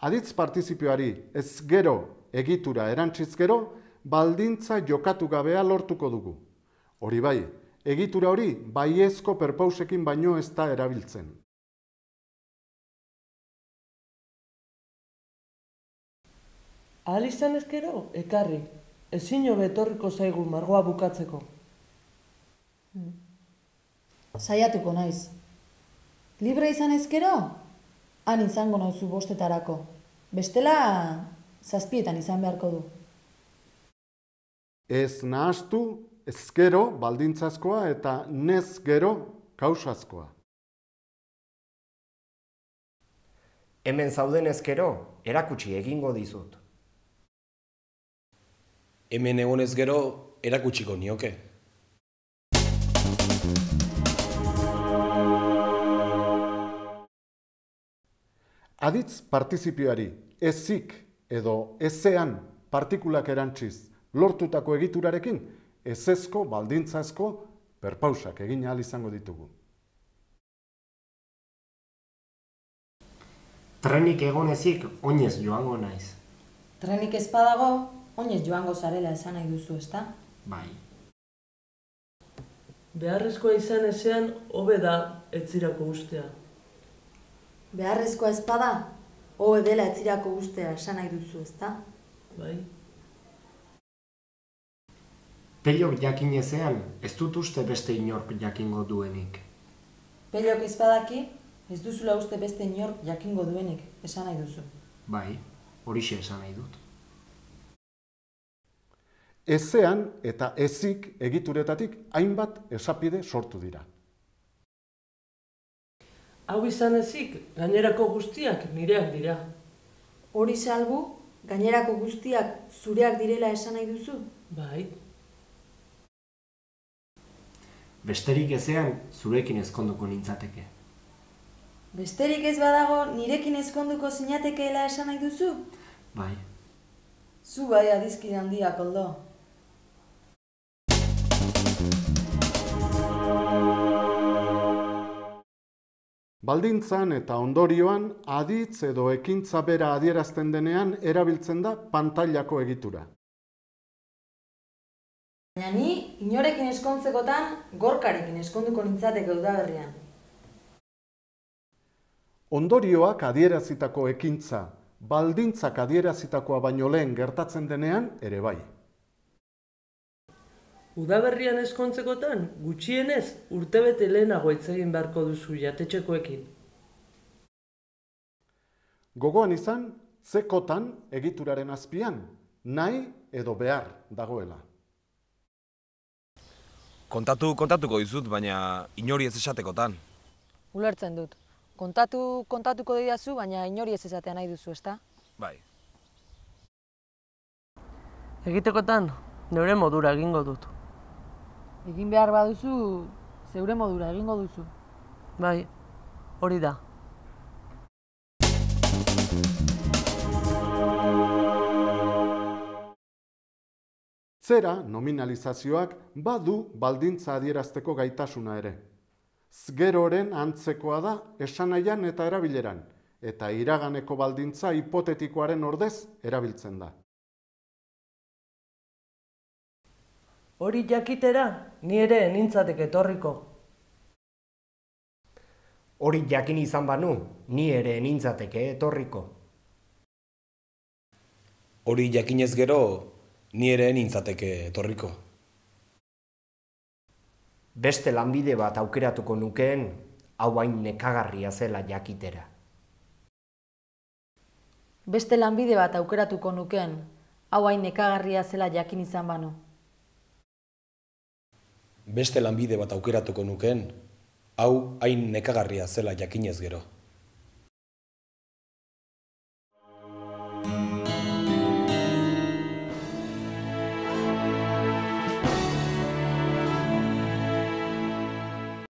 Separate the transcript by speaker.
Speaker 1: Aditz partizipioari ez gero egitura erantziz gero, baldintza jokatu gabea lortuko dugu. Hori bai, egitura hori baiezko perpausekin baino ez da erabiltzen.
Speaker 2: Ahal izan ezkero, ekarri. Ezin hobe etorriko zaigu margoa bukatzeko.
Speaker 3: Saiatuko naiz. Libre izan ezkero, han izango nauzu bostetarako. Bestela, 7 izan beharko du.
Speaker 1: Ez nahastu, ezkero baldintzazkoa eta nez gero kausazkoa.
Speaker 4: Hemen zauden ezkero, erakutsi egingo dizut.
Speaker 5: Hemen egonez gero, erakutsiko nioke.
Speaker 1: Aditz partizipioari ezik edo ezean partikulak erantziz lortutako egiturarekin ezezko baldintzazko perpausak egin ahal izango ditugu.
Speaker 4: Trenik egonezik oinez joango naiz.
Speaker 3: Trenik ez badago, oinez joango zarela esan nahi duzu, ezta?
Speaker 4: Bai.
Speaker 2: Beharrezkoa izan ezean, hobe da etzirako ustea.
Speaker 3: Beharrezkoa ez bada, hobe dela etzirako ustea esan nahi duzu, ezta?
Speaker 2: Bai.
Speaker 4: Pelok jakin ezean, ez dut uste beste inork jakingo duenik.
Speaker 3: Pelok ez badaki, ez duzula uste beste inork jakingo duenik esan nahi duzu.
Speaker 4: Bai, horixe esan nahi dut.
Speaker 1: Ezean eta ezik egituretatik hainbat esapide sortu dira.
Speaker 2: Hau izan ezik, gainerako guztiak nireak dira.
Speaker 3: Hori salbu, gainerako guztiak zureak direla esan nahi duzu?
Speaker 2: Bai.
Speaker 4: Besterik ezean, zurekin ezkonduko nintzateke.
Speaker 3: Besterik ez badago, nirekin ezkonduko zinatekeela esan nahi duzu?
Speaker 4: Bai.
Speaker 3: Zu bai adizkide handiak, Koldo.
Speaker 1: Baldintzan eta ondorioan aditz edo ekintza bera adierazten denean erabiltzen da pantailako egitura.
Speaker 3: Baina ni, inorekin eskontzekotan, gorkarekin eskonduko nintzateke udaberrian.
Speaker 1: Ondorioak adierazitako ekintza, baldintzak adierazitakoa baino lehen gertatzen denean ere bai.
Speaker 2: Udaberrian eskontzekotan, gutxienez, urtebete lehenago hitz egin beharko duzu jatetxekoekin.
Speaker 5: Gogoan izan, zekotan egituraren azpian, nahi edo behar dagoela.
Speaker 6: Kontatuko dizut, baina inori ez esatekotan.
Speaker 7: Ulertzen dut. Kontatuko didazu, baina inori ez esatea nahi duzu, ezta?
Speaker 6: Bai.
Speaker 2: Egitekotan, neure modura egingo dut.
Speaker 7: Egin behar baduzu, zeure modura egingo duzu.
Speaker 2: Bai, hori da.
Speaker 1: Zera nominalizazioak badu baldintza adierazteko gaitasuna ere. Zgeroren antzekoa da esanahian eta erabileran, eta iraganeko baldintza hipotetikoaren ordez erabiltzen da.
Speaker 2: Hori jakitera, ni ere nintzateke etorriko.
Speaker 4: Hori jakin izan banu, ni ere nintzateke etorriko.
Speaker 6: Hori jakinez gero, ni ere nintzateke etorriko.
Speaker 4: Beste lanbide bat aukeratuko nukeen, hau hain nekagarria zela jakitera.
Speaker 3: Beste lanbide bat aukeratuko nukeen, hau hain nekagarria zela jakin izan banu.
Speaker 6: Beste lanbide bat aukeratuko nukeen, hau hain nekagarria zela jakinez gero.